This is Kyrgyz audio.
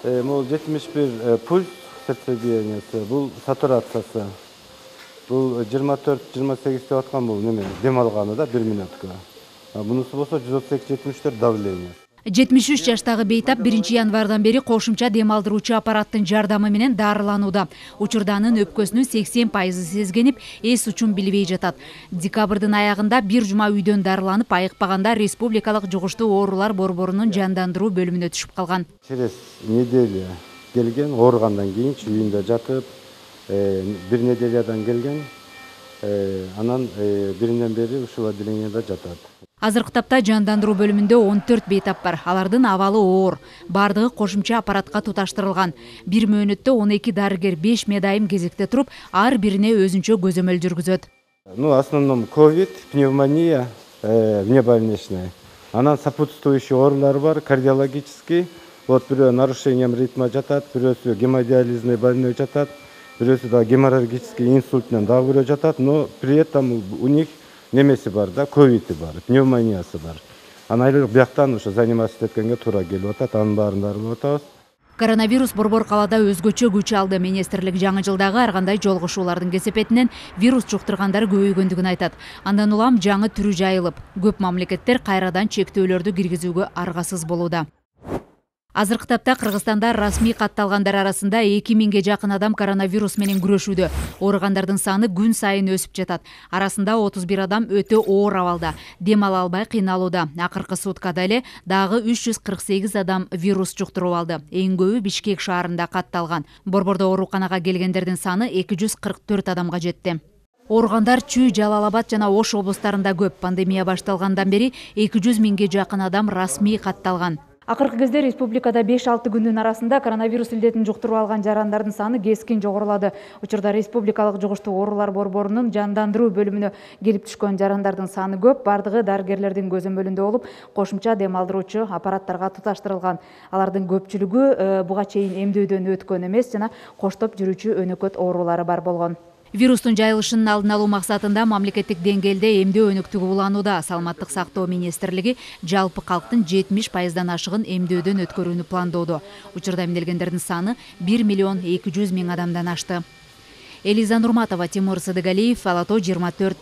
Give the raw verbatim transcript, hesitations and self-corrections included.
Могул жетимиш бир пульс сердцебиениясы, бул сатурациясы. Бул жыйырма төрт жыйырма сегиз деп аткан бул неме дем алганы да бир минутка. Бунусу болсо жүз отуз эки жетимиш төрт давление. жетимиш үч жаштагы бейтап биринчи январдан бери кошумча дем алдыруучу аппараттын жардамы менен дарыланууда. Учурда анын өпкөсүнүн сексен пайызы сезгенип, эс учун билбей жатат. Декабрдын аягында бир жума үйдөн дарыланып айыкпаганда республикалык жугуштуу оорулар борборунун жандандыруу бөлүмүнө түшүп калган. Через неделя келген, ооругандан кийин үйүндө жатып, бир неделядан келген, анан биринен бери ушул отделениеде жатат. Азыркы тапта жандандыруу бөлүмүндө он төрт бейтап бар. Алардын абалы оор. Бардыгы кошумча аппаратка туташтырылган. Бир мөөнөттө он эки дарыгер беш медайым кезекте туруп, ар бирине өзүнчө көзөмөл жүргүзөт. Ну, в основном ковид, пневмония, внебольничная. Анан сопутствующий оорулар бар, кардиологический. Вот бирөө нарушением ритма жатат, бирөөсү гемодиализный больной жатат, бирөөсү да геморрагический инсульт менен дагы бирөө жатат, но при этом у них немеси бар да, ковиди бар, пневмониясы бар. Анайлык бияктан ошо заниматься эткенге туура келип атат, анын баарын дарылап атабыз. Коронавирус борбор калаада өзгөчө күч алды. Министрлик жаңы жылдагы ар кандай жолугушуулардын кесепетинен вирус жуктургандар көбөйгөндүгүн айтат. Андан улам жаңы түрү жайылып, көп мамлекеттер кайрадан чектөөлөрдү киргизүүгө аргасыз болууда. Азыркы тапта Кыргызстанда расмий катталгандар арасында эки миңге жакын адам коронавирус менен күрөшүүдө. Ооругандардын саны күн сайын өсүп жатат. Арасында отуз бир адам өтө оор абалда, дем ала албай кыйналууда. Акыркы суткада эле дагы үч жүз кырк сегиз адам вирус жуктуруп алды. Эң көбү Бишкек шаарында катталган. Борбордо ооруканага келгендердин саны эки жүз кырк төрт адамга жетти. Ооругандар Чүй, Жалал Абад жана Ош облустарында көп. Пандемия башталгандан бери эки жүз миңге жакын адам расмий катталган. Акыркы кезде республикада беш алты күндүн арасында коронавирус илдетин жуктуруп алган жарандардын саны кескин жогорулады. Учурда республикалык жугуштуу оорулар борборунун жандандыруу бөлүмүнө келип түшкөн жарандардын саны көп. Бардыгы дарыгерлердин көзөмөлүндө болуп, кошумча дем алдыруучу аппараттарга туташтырылган. Алардын көпчүлүгү буга чейин эмдөөдөн өткөн эмес жана коштоп жүрүүчү өнөкөт оорулары бар болгон. Вирустун жайылышынын алдын алуу максатында мамлекеттик деңгээлде эмдөө өнүктүгү уланууда. Саламаттык сактоо министрлиги жалпы калктын жетимиш пайыздан ашыгын эмдөөдөн өткөрүүнү пландоодо. Учурда эмделгендердин саны бир миллион эки жүз миң адамдан ашты. Элиза Нурматова, Тимур Садыгалиев, Ала Тоо жыйырма төрт.